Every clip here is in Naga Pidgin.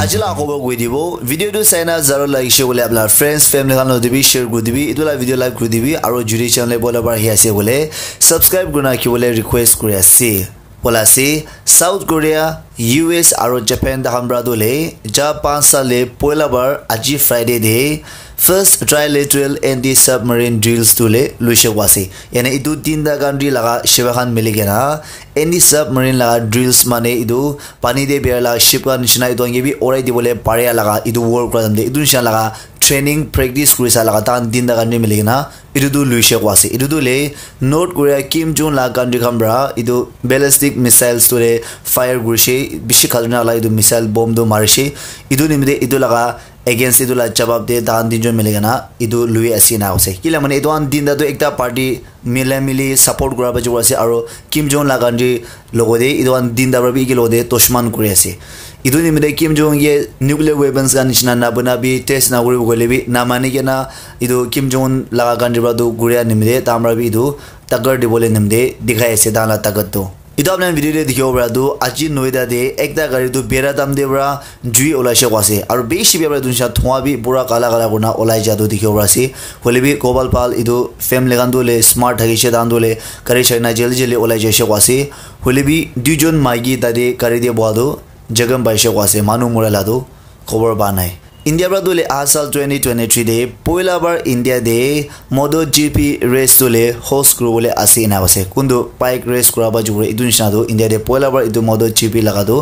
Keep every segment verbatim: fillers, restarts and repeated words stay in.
Aji la khobor koi dibo, video tu saina zaro lagise koile apna friends, family khan loti bi share kuri dibi, etu la video like kuri dibi, aro jodi channel le bola bar hi ase koile subscribe kurina rakhibole request kuri ase. Bola ase, South Korea, U S aro Japan takhan pra tu le ja panch sal le poila bar aji Friday de first trilateral anti-submarine drills tu le luise koa ase. Yani etu tinta country laga shiba khan mili kena anti-submarine laga drills mane etu pani de biya la ship khan nishina etu khan ke bi urai dibole paria laga etu work kura time de etu nishina laga training practice kuri sa laga tahan tinta country mili kena etu tu luise koa ase. Etu tu le North Korea Kim Jong la country khan pra etu ballistic missiles tu le fire kurise, bishi khatarnak la etu missile bomb tu marise. Etu nimite etu laga against etu la jawab de tahan tinjon mili kena etu lui ase ena ase. Kila mane etu khan tinta tu ekta party mila mili support kura baji ase aro Kim Jong la country logo de etu khan tinta pra bi eke logo de dushman kuri ase. Etu nimite Kim Jong ke nuclear weapons khan nishina na bana bi test na kuri bo koile bi na mani kena etu Kim Jong Un laga country pra tu kuria nimite tahan pra bi etu takat dibole nimite dikhai ase tahan la takat tu. Etu apni khan video de dikhibo para tu aji noida de ekta gari tu bera dam de para jui olaise koa ase aro bishi bera para etu nisina dhua bi pura kala kala kurina olai ja tu dikhibo para ase. Hoile bi kobal pal etu family khan tu hoile smart thakise tahan tu hoile gari chai na jaldi jaldi olai jaise koa ase. Hoile bi duijon maiki tate gari de boha tu jaga paise koa ase manu mura la tu khobor pa nai. India para tu le aha sal twenty twenty-three de poila bar India de Moto G P race tu le host kuribole ase ena ase. Kuntu bike race kura ba jukure etu nishina tu India de poila bar etu Moto G P laga tu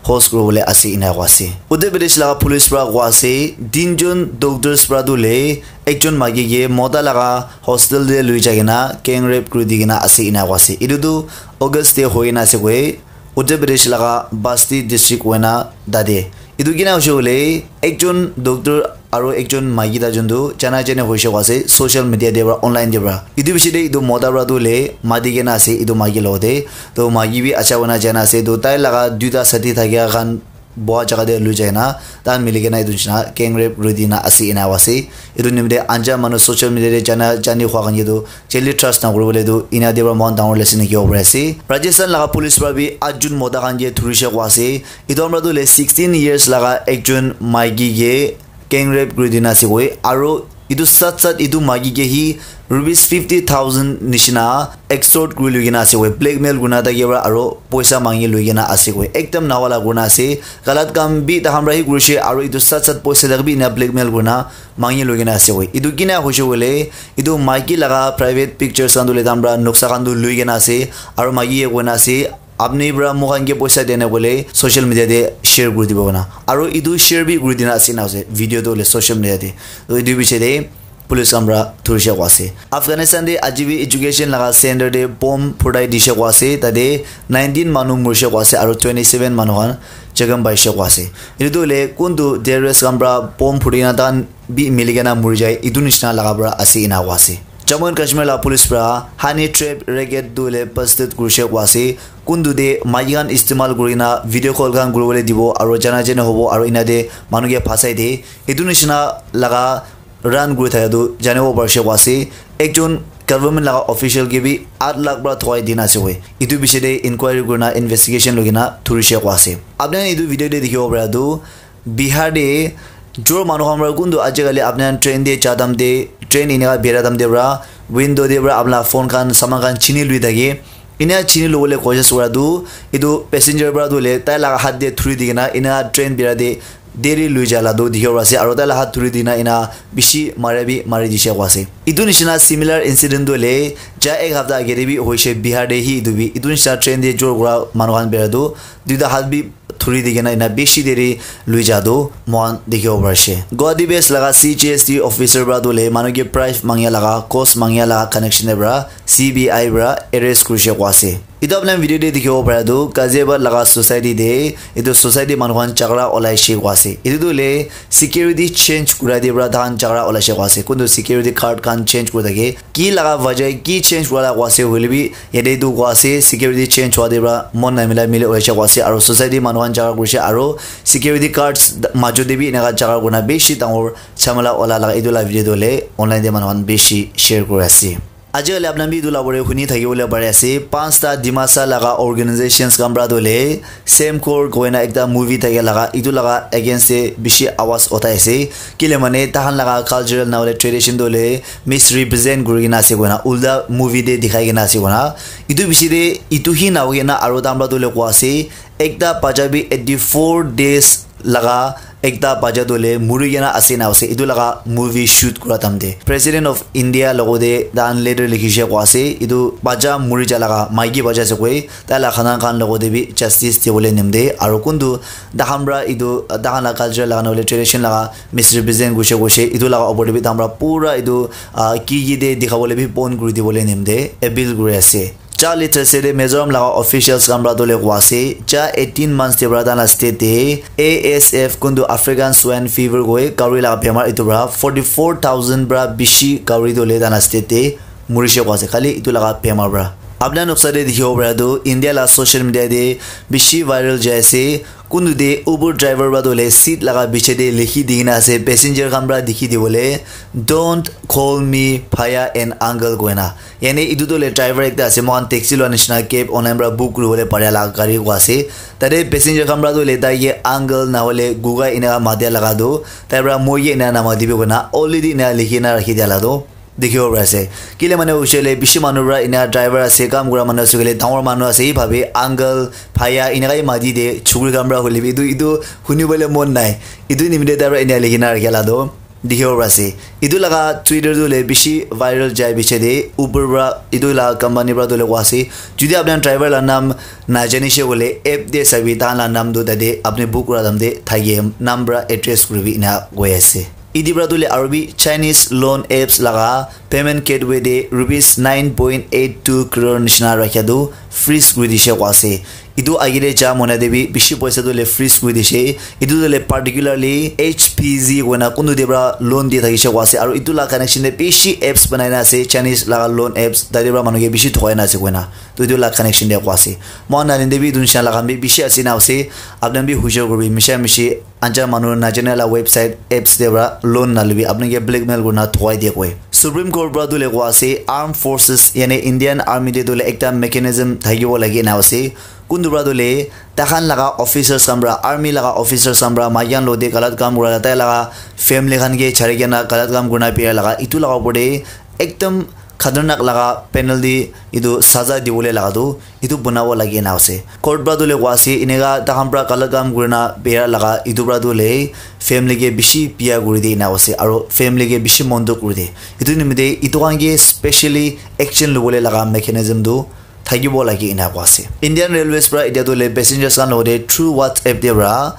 host kuribole ase ena koa ase. Uttar Pradesh laga police para koa ase tinjon doctors para tu le ekjon maiki ke mota laga hostel de lui jai kena gang rape kuri di kena ase ena koa ase. Etu tu August de hoi kena ase koi. Uttar Pradesh laga Basti district hoina tate. Etu kina hoise koile ekjon doctor aro ekjon maiki ta jun tu jana jani hoise koa ase social media te para online te para. Etu piche te etu mota para tu hoile mati kena ase etu maiki logote. To maiki bi acha hoina jana ase. To tai laga duita sathi thakia khan boha jaga te lui jai na tahan mili kena etu nishina gang rape kuri di na ase ena koa ase. Etu nimite anja manu social media te jana jani hua khan ke tu Cheli trust na kuribole tu ena de para moikhan dangor lesson hikibo pari ase. Rajasthan laga police para bi atjun mota khan ke dhurise koa ase. Etu para tu hoile sixteen years laga ekjon maiki ke gang rape kuri dina ase koi. Aro etu sat sat etu maiki ke hi rupees fifty thousand nishina extort kuri lui kena ase koi. Blackmail kurina thaki para aro poisa mangi lui kena ase koi. Ekdam nawala kurina ase. Galat kam bi takhan para hi kurise aro etu sat sat poisa tak bi ena blackmail kurina mangi lui kena ase koi. Etu kina hoise koile etu maiki laga private pictures khan tu le tahan para noksa khan tu lui kena ase aro maiki ye koina ase apni para moikhan ke poisa dena koile social media te share kuri dibo koina aro etu share bi kuri dina ase na ase video tu hoile social media te. To etu biche te police khan para dhurise koa ase. Afghanistan te aji bi education laga center te bomb phutai dise koa ase tate nineteen manu murise koa ase aro twenty seven manu khan jakham paise koa ase. Etu tu hoile kuntu terrorist khan para bomb phuri kena tahan bi mili kena muri jai etu nishina laga para ase ena koa ase. Jammu and Kashmir la police para honey trap racket tu hoile busted kurise koa ase. Kuntu te maiki khan istemal kuri kena video call khan kuribole dibo aro jana jani hobo aro ena te manu ke phasai de etu nishina laga run kuri thaka tu janibo parise koa ase. Ekjon government laga official ke bi aat lakh para thukai dina ase koi. Etu biche te inquiry kurina investigation lui kena dhurise koa ase. Apni khan etu video te dikhibo para tu Bihar te jor manu khan para kuntu ajikali apni khan train te ja time te train eneka bera time te para window te para apna phone khan saman khan chini lui thake. Ena chini lobole koshish kura tu etu passenger para tu hoile tai laga hath te dhuri di kena ena train bera te deri lui ja la tu dikhibo ase aro tai la hath dhuri dina ena bishi mara bi mari dise koa ase. Etu nishina similar incident tu hoile ja ek hapta age te bi hoise Bihar te hi etu bi etu nishina train te jor kura manu khan bera tu duita hath bi dhuri di kena ena bishi deri lui ja tu moikhan dikhibo pari ase. Guwahati base laga C G S T officer para tu hoile manu ke bribe mangia laga, cost mangia laga connection te para C B I para arrest kurise koa ase. Etu apni khan video te dikhibo para tu Ghaziabad laga society te etu society manu khan jhagara olaise koa ase. Etu tu hoile security change kura te para tahan jhagara olaise koa ase. Kuntu security guard khan change kuri thake. Ki laga wajah ki change kura la koa ase hoile bi yate tu koa ase security change hua te para mon namila mili olaise koa ase aro society manu khan jhagara kurise aro security guards majo te bi eneka jhagara kurina bishi dangor jhamala ola laga etu la video tu hoile online te manu khan bishi share kuri ase. Aji kali apna bi etu la bole huni thaki bole pare ase, panchta Dimasa laga organizations khan pra tu le Semkor koina ekta movie thaki laga, etu laga against te bishi awaz uthai ase. Kile mane tahan laga cultural na hole tradition tu le misrepresent kuri kena ase koina, ulta movie te dikhai kena ase koina. Etu bishi te etu hi na hoi kena aro tahan pra tu le koa ase, ekta bacha bi eighty four days laga ekta bacha tu le muri kena ase na ase, etu laga movie shoot kura time te. President of India logo te tahan letter likhi she koa ase, etu bacha muri ja laga maiki bacha ase koi, tai la khana khan logo te bi justice dibole nimte, aro kuntu tahan pra etu tahan la culture laga na hole tradition laga misrepresent kurishe kurishe, etu laga opor te bi tahan pra pura etu, ah, ki ki te dikhabole bi bon kuri dibole nimte appeal kuri ase. Charli Thursday te Mizoram laga officials khan pra tu le koa ase, ja eighteen months te pra tahan la state te A S F kuntu African Swine Fever koi kauri laga bemar, etu pra forty four thousand pra bishi kauri tu le tahan la state te murishe koa ase, khali etu laga bemar pra. Apna noksa te dikhibo para tu India la social media te bishi viral jai ase. Kuntu te Uber driver pra tu le seat laga biche te likhi di kena ase, passenger khan pra dikhi dibole, "Don't call me bhaiya and uncle," koina. Yani etu tu le driver ekta ase, moikhan taxi lua nishina cab online pra book kuribole paria la gari koa ase. Tate passenger khan pra tu le tai ke uncle na hole guga ena matia laga tu, tai pra moi ke ena namati bi koina already ena likhi na rakhi dia la tu dikhibo pari ase. Kile mane hoishe hoile bishi manu pra ena driver ase, kam kura manu ase koile, dangor manu ase, hi bhabi uncle, bhaiya, eneka hi mati de, chukri khan pra hoile bi etu, etu huni bole mon nai. Etu nimite tai pra ena likhi na rakhi la tu dikhibo pari ase. Etu laga Twitter tu hoile bishi viral jai biche de, Uber pra, etu la company pra tu hoile koa ase, jodi apni khan driver la naam na jani she koile, app de sabi, tahan la naam tu tate apni book kura time te thake, naam pra address kuribi ena koi ase. Iti pra tu le aro bi Chinese loan apps laga payment gateway te rupees nine point eight two crore nishina rakhia tu freeze kuri dishe koa ase. Etu age te ja mona te bi bishi poisa tu le freeze kuri dishe. Etu tu le particularly H P Z koina kuntu te pra loan di thakishe koa ase. Aro etu la connection te bishi apps banai na ase, Chinese laga loan apps, tate pra manu ke bishi thokai na ase koina. Tu etu la connection te koa ase. Moikhan nalin te bi etu nishina laga bi bishi ase na ase. Apni khan bi hujor kuribi, misha mishi anjan manu najane la website apps te pra loan nalibi, apni ke blackmail kurina thokai dia koi. Supreme Court pra tu le koa ase, armed forces, yani Indian Army te tu le ekta mechanism thakibo lage na ase. Kuntu pra tu le, tahan laga officers khan pra, army laga officers khan pra, maiyan lo de galat kam kura la, tai laga family khan ke chari kena galat kam kurina biya laga, etu laga opor te ekdam khatarnak laga penalty, etu saza dibole laga tu, etu banabo lage na ase. Court pra tu le koa ase, eneka tahan pra galat kam kurina biya laga, etu pra tu le family ke bishi biya kuri de na ase, aro family ke bishi mon dukh kuri de. Etu nimite etu khan ke specially action lobole laga mechanism tu thakibo lage ena koa ase. Indian Railways pra etia tu le passengers khan logote through WhatsApp te pra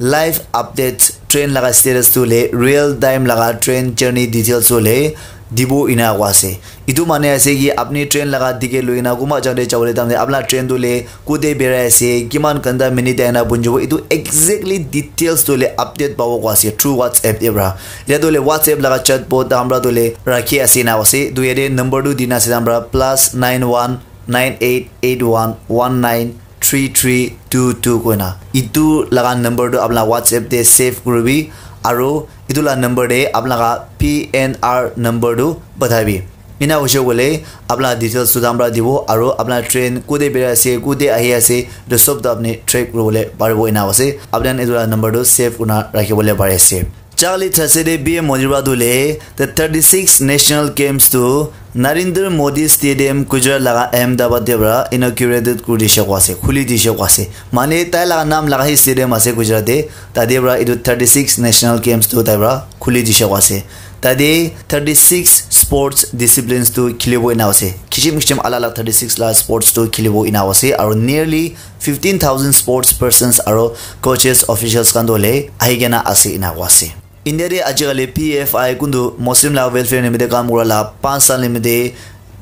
live update, train laga status tu le real time laga train journey details tu le dibo ena koa ase. Etu mane ase ki apni train laga ticket loi kena kunba jagah te jabole time te apna train tu le kute berai ase, kiman ghanta minute te ahina punchibo, etu exactly details tu le update pabo koa ase through WhatsApp te pra. Etia tu le WhatsApp laga chatbot tahan pra tu le rakhi ase ena koa ase. Tu yate number tu dina ase tahan pra plus nine one nine eight eight one one nine three three two two koina. Etu laga number tu apna WhatsApp te save kuribi, aro etu la number te apna laga P N R number tu pathaibi. Ena hoishe koile apna details tu tahan pra dibo, aro apna train kute berai ase, kute ahi ase, etu sob tu apni track kuribole paribo ena ase. Apni khan etu la number tu save kurina rakhibole pari ase. Charli Thursday te P M Modi pra tu le the thirty six National Games tu Narendra Modi Stadium Gujarat laga Ahmedabad te pra inaugurated kuri dishe koa ase, khuli dishe koa ase. Mane tai laga naam laga hi stadium ase Gujarat te, tate pra etu thirty six National Games tu tai pra khuli dishe koa ase. Tate thirty six sports disciplines tu khilibo ena ase. Kichim kichim alak alak thirty six la sports tu khilibo ena ase. Aro nearly fifteen thousand sports persons aro coaches, officials khan tu hoile ahi kena ase ena koa ase. India te ajikali P F I kuntu Muslim la welfare nimite kam kura la panch saal nimite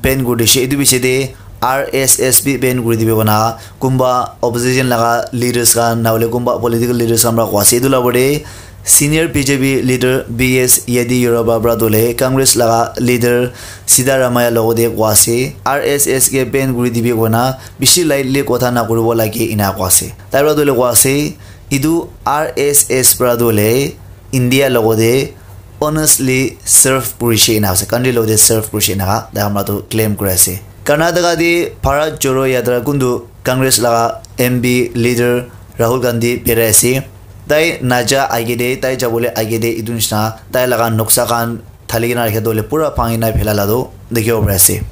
ban kuri dishe. Etu piche te R S S bi ban kuri dibi koina kunba opposition laga leaders khan na hoile kunba political leaders khan pra koa ase. Etu la opor te senior B J P leader B S Yediyurappa pra tu hoile Congress laga leader Siddaramaiah logote koa ase, R S S ke ban kuri dibi koina bishi lightly kotha na kuribo lage ena koa ase. Tai pra tu hoile koa ase, etu R S S pra tu hoile India logote honestly serve kurishe ena ase, country logote serve kurishe ena tai hamra tu claim kuri ase. Karnataka te Bharat Jodo Yatra kuntu Congress laga M P leader Rahul Gandhi birai ase. Tai naja age te, tai jabole age te etu nishina tai laga noksa khan thali kena rakhi dole pura bhangi na phela la tu dikhibo pari ase.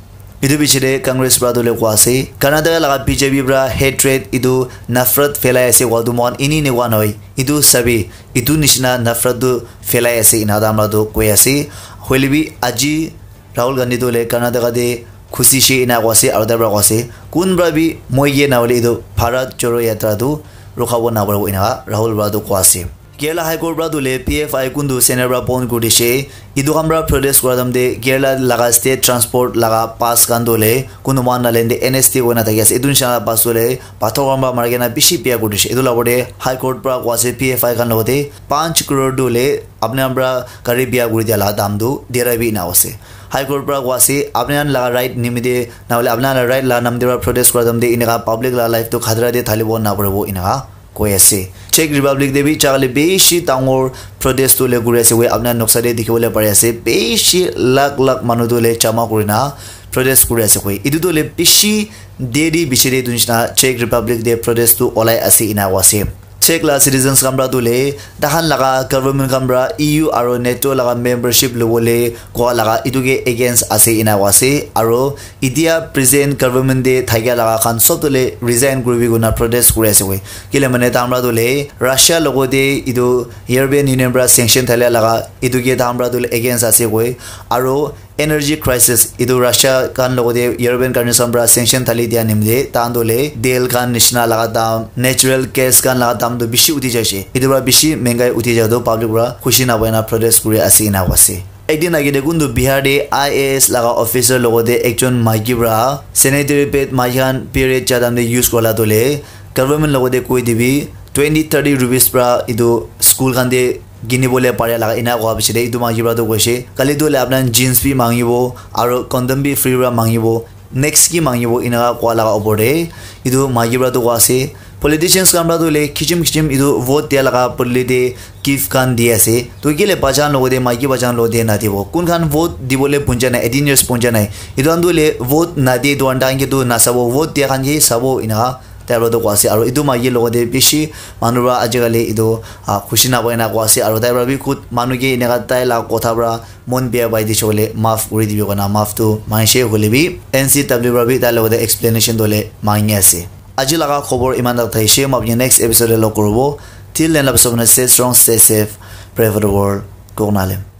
Etu piche te Congress para tu le koa ase, Karnataka laga B J P para hatred etu nafrat phelai ase koa tu moikhan eni eni koa nohoi. Etu sabi, etu nishina nafrat tu phelai ase ena ta amra tu koi ase. Hoile bi aji Rahul Gandhi tu le Karnataka te khushi she ena koa ase aru tai para koa ase kun para bi moi ye na hoile etu Bharat Jodo Yatra tu rukha bo na paribo ena Rahul para tu koa ase. Kerala High Court para tu le P F I kuntu Senate para bon kuri dishe. Etu khan para protest kura time te Kerala laga state transport laga pass khan tu le kuntu mohan nalen te N S T koi na thaki ase. Etu nisha pass tu le pathor khan para mari kena bishi biya kuri dishe. Etu la opor te High Court para koa ase P F I khan logote panch crore tu le apni khan para gari biya kuri dia la dam tu dera bi ena ase. High Court para koa ase apni khan laga right nimite na hoile apni khan laga right la nam te para protest kura time te eneka public la life tu khatara te thalibo na paribo eneka koi ase. Czech Republic te bi jagale bishi dangor protest tu le kuri ase koi apni khan noksa te dikhi bole pari ase. Bishi lakh lakh manu tu le jama kuri na protest kuri ase koi. Etu tu le bishi deri bishi de tu nishina Czech Republic te protest tu olai ase ena koa ase. Czech la citizens khan para tu le tahan laga government khan para E U aro NATO laga membership lobole koa laga etu ke against ase ena koa ase. Aro etia present government te thakia laga khan sob tu le resign kuribi koina protest kuri ase koi. Kile mane ta amra tu le Russia logote etu European Union para sanction thalia laga etu ke ta amra tu le against ase koi. Aro energy crisis etu Russia khan logote European countries khan para sanction thali dia nimite ta khan tu le tel khan nishina laga dam, natural gas khan laga dam tu bishi uthi jaise. Etu para bishi mengai uthi jai tu public para khushi na pai na protest kuri ase ena koa ase. Ekdin age te kuntu Bihar te I A S laga officer logote ekjon maiki para sanitary pad maiki khan period ja time te use kura la tu le government logote koi dibi twenty thirty rupees para etu school khan te kini bole pare laga ena koa piche te etu maiki para tu koise kali tu le apna jeans bi mangibo aro condom bi free para mangibo. Next ki mangibo eneka koa laga opor te etu maiki para tu koa ase politicians khan para tu hoile kichim kichim etu vote dia laga podoli te gift khan di ase. Tu kile bacha khan logote maiki bacha khan logote nadibo kun khan vote dibole punja nai eighteen years punja nai etu khan tu hoile vote nadi etu khan tahan ke tu nasabo vote dia khan ke sabo eneka tai para tu koa ase. Aro etu maiki logote bishi manu para ajikali etu ah, khushi na pai na koa ase aro tai para bi khud manu ke eneka tai la kotha para mon bia pai dise koile maaf kuri dibi koina maaf tu mangise hoile bi N C W para bi tai logote explanation dole mangi ase. Aji laga khobor iman tak thaise, moi apni next episode te log koribo. Till then, love so much, stay strong, stay safe, pray for the world. Kok Nalem.